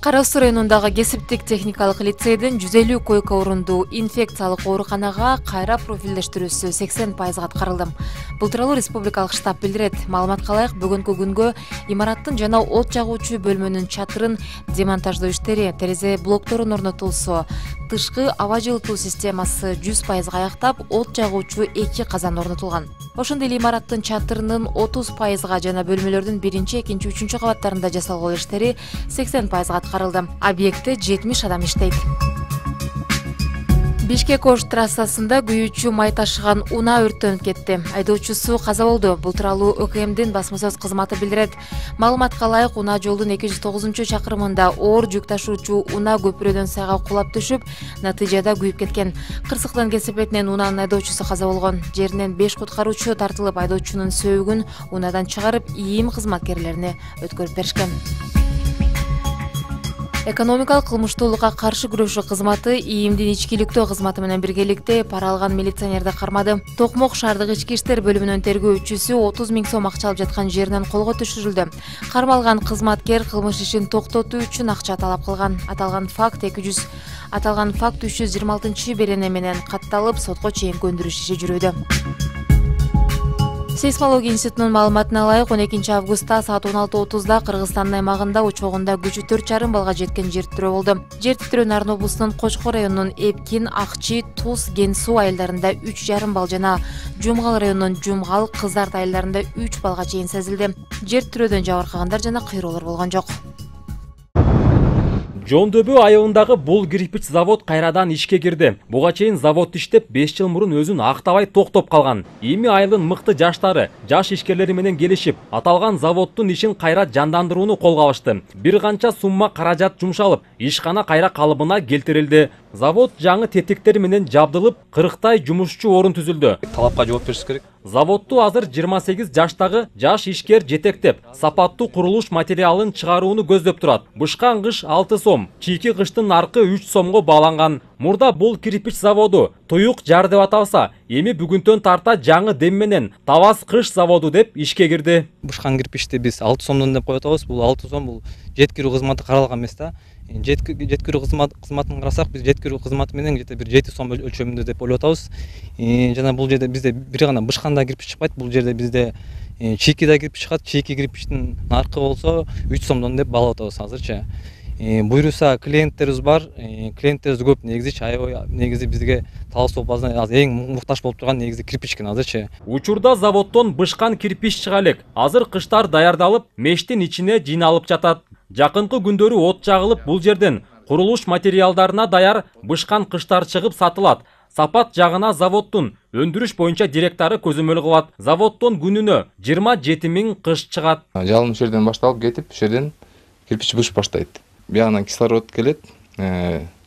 Кара Суу районундагы кесиптик техникалык лицейдин 150 койка орундуу инфекциялык ооруканага кайра профилдештирүүсү 80% аткарылды. Бул тууралуу республикалык штаб билдирет. Маалыматка ылайык, бүгүнкү күнгө имараттын жана от жагуучу бөлмөнүн чатырын демонтаждоо иштери, терезе блокторун орнотулсу, тышкы аба жылытуу системасы 100% аяктап, от жагуучу 2 казан орнотулган. Ошондой эле имараттын чатырынын 30% жана бөлмөлөрдүн 1-2, 3 кабаттарында жасалган иштери 80% аткарылды. Объектте 70 адам иштейт. Бишкек-Ош трассасында күйүүчү май ташыган унаа өрттөнүп кетти. Айдоочусу каза болду. Бул тууралуу ÖKMдин басма сөз кызматы билдирет. Маалыматка ылайык, унаа жолдун 209-чакырымында оор жүк ташуучу унаа көпүрөдөн сайга кулап түшүп, натыйжада күйүп кеткен. Кырсыктын кесепетинен унаанын айдоочусу каза болгон. Жеринен 5 куткаруучу тартылып, айдоочунун сөөгүн унаадан чыгарып, ИИМ кызматкерлерине өткөрүп беришкен. Экономикалык кылмыштуулукка каршы күрөшүү кызматы ИИМдин ичкиликтөө кызматы менен биргеликте пара алган милиционерди кармады. Токмок шаардык ички иштер бөлүмүнүн тергөөчүсү 30 000 сом акча алып жаткан жеринен колго түшүрүлдү. Кармалган кызматкер кылмыш ишин токтотуу үчүн акча талап кылган. Аталган факт 326-берене менен катталып, сотко чейинки өндүрүш иши жүрүүдө. Сейсмология институтунун маалыматына ылайык, 12 августта саат 16:30 Кыргызстандын аймагында учогунда күчү 4,5 балга жеткен жер титирөө болду. Жер титирөө Нарын облусунун Кочкор районунун Эпкин, Акчи, Туз, Ген-Суу айылдарында 3,5 бал жана Жумгал районунун Жумгал, Кызарт айылдарында 3 балга чейин сезилди. Жер титирөөдөн жабыркагандар жана кыйроолор болгон жок. Жондөбү айылындагы бул кирпич завод кайрадан ишке кирди. Буга чейин завод иштеп 5 жыл мурун өзүн актабай токтоп калган. Эми айылдын мыкты жаштары, жаш ишкерлери менен келишип, аталган заводдун ишин кайра жандандырууну колго алышты. Бир канча сумма каражат жумшалып, ишкана кайра калыбына келтирилди. Завод жаңы тетиктер менен жабдылып, 40 жумушчу орун түзүлдү. Талапка жооп бериш керек. Заводду азыр 28 жаштагы жаш ишкер жетектеп, сапаттуу курулуш материалын чыгарууну көздөп турат. Бышкан кыш 6 сом, чийки кыштын аркы 3 сомго бааланган. Мурда бул кирпич заводу туюк жар деп аталса, эми бүгүнтөн тарта жаңы дем менен Табас кыш заводу деп ишке кирди. Бышкан кирпичти биз 6 сомдон деп коюп атабыз. Бул 6 сом бул жеткирүү кызматы каралган эмес да. Жеткирүү кызматын карасак, биз жеткирүү кызматы менен где-то бир 7 сом өлчөмүндө деп ойлоп атабыз. Жана бул жерде бизде бир гана бышканда кирпич чыкпайт. Бул жерде бизде чийки да кирпич чыгат. Чийки кирпичтин наркы болсо 3 сомдон деп баалап атабыз азырчы. Буйруса клиенттерибиз бар. Клиенттерибиз көп негизи, аябай негизи бизге талашуу база эң муктаж болуп турган негизи кирпич экен азырчы. Учурда заводдон бышкан кирпич чыга элек. Азыр кыштар даярдалып, мештин ичине жыйналып жатат. Жакынкы күндөрү от жагылып, бул жерден курулуш материалдарына даяр бышкан кыштар чыгып сатылат. Сапат жагына заводдун өндүрүш боюнча директору көзөмөл кылат. Заводдон күнүнө 27 000 кыш чыгат. Жалын жерден башталып кетип, жерден кирпич бышып баштайт. Биягынан кислород келет,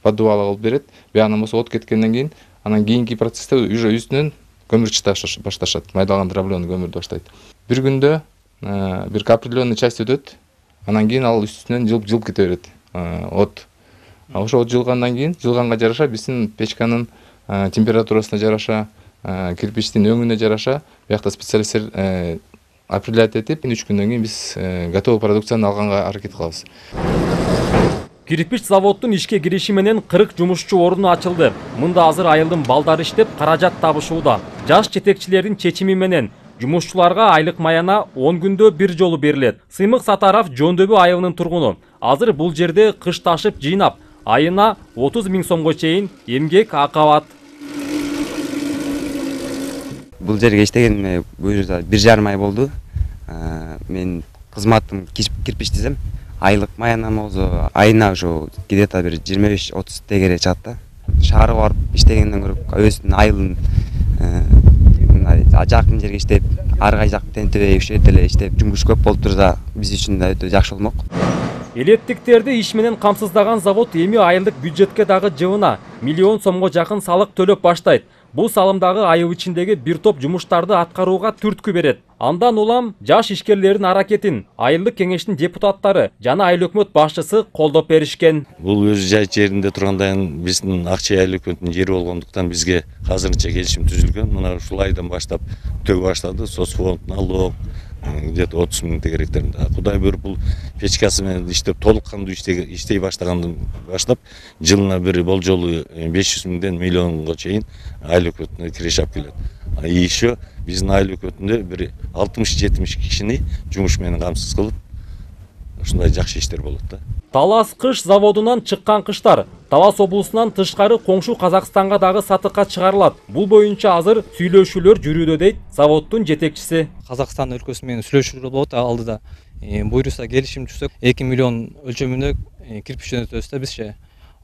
поддувало кылып берет. Биягынан болсо от кеткенден кийин, анан кийинки процессте уже үстүнөн көмүр чыгыш башташат. Майдалган дробленый көмүрдү баштайт. Бир күндө бир определенный часть өтөт. Анан кийин ал үстүнөн жылып кете берет от. Ошо от жылгандан кийин, жылганга жараша биздин печканын температурасына жараша, кирпичтин өңүнө жараша, биякта специалисттер определять этип, 3 күндөн кийин биз готовый продукцияны алганга аракет кылабыз. Кирпич заводдун ишке кириши менен 40 жумушчу орunu ачылды. Мында азыр айылдын балдары иштеп, каражат табышууда. Жаш жетекчилердин чечими менен жумушчуларга айлык маяна 10 күндө бир жолу берилет. Сыймык Сатаров Жондөбү айылынын тургуну. Азыр бул жерде кыш ташып жыйнап, айына 30 000 сомго чейин эмгек акы алат. Бул жерге иштегениме 1,5 ай болду. Мен кызматым кирпич тизем. Айлык маянам болсо айына ошо где-то бир 25-30 тегере чыгат да. Шаарга барып иштегенден көрүп өзүнүн айылын жакын жерге иштеп, ар кай жак тентебей ушерде эле иштеп, жумуш көп болуп турса, биз үчүн да өтө жакшы болмок. Элеттиктерди иш менен камсыздаган завод эми айылдык бюджетке дагы жылына 1 000 000 сомго жакын салык төлөп баштайт. Бул салымдагы айыл ичиндеги бир топ жумуштарды аткарууга түрткү берет. Андан улам жаш ишкерлердин аракетин айылдык кеңештин депутаттары жана айыл өкмөт башчысы колдоп беришкен. Бул өз жеринде тургандан биздин Акчай айыл өкмөтүнүн жери болгондуктан бизге азырынча келишим түзүлгөн. Мына ушул айдан баштап төгө баштады. Соцфонд, налог, где-то 30 миң тегеректеринде. Кудай буйруп бул печкасы менен иштеп толук кандуу иштей баштагандан баштап жылына бир болжолу 500 миңден миллионго чейин айлык өтүнө киреш алып келет. И еще биздин айлык өтүндө бир 60-70 кишини жумуш менен камсыз кылып ушундай жакшы иштер болот да. Талас кыш заводунан чыккан кыштар Талас облусунан тышкары коңшу Казакстанга дагы сатыкка чыгарылат. Бул боюнча азыр сүйлөшүүлөр жүрүүдө дейт заводдун жетекчиси. Казакстан өлкөсү менен сүйлөшүүлөр болот алдыда. Буйруса келишим түзсөк 2 миллион өлчөмүндө кирпич өнөтөбүз да бизче.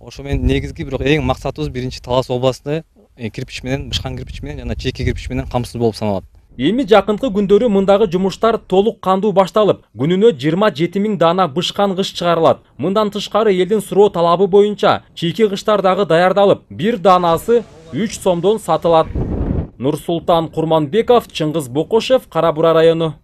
Ошо менен негизги бирок эң максатыбыз биринчи Талас областында кирпич менен, бышкан кирпич менен жана чийки кирпич менен камсыз болуп саналат. Эми жакынкы күндөрү мындагы жумуштар толук кандуу башталып, күнүнө 27 миң дана бышкан кыш чыгарылат. Мындан тышкары элдин суроо талабы боюнча чийки кыштар дагы даярдалып, бир данасы 3 сомдон сатылат. Нурсултан Курманбеков, Чыңгыз Бокошев, Кара Бура району.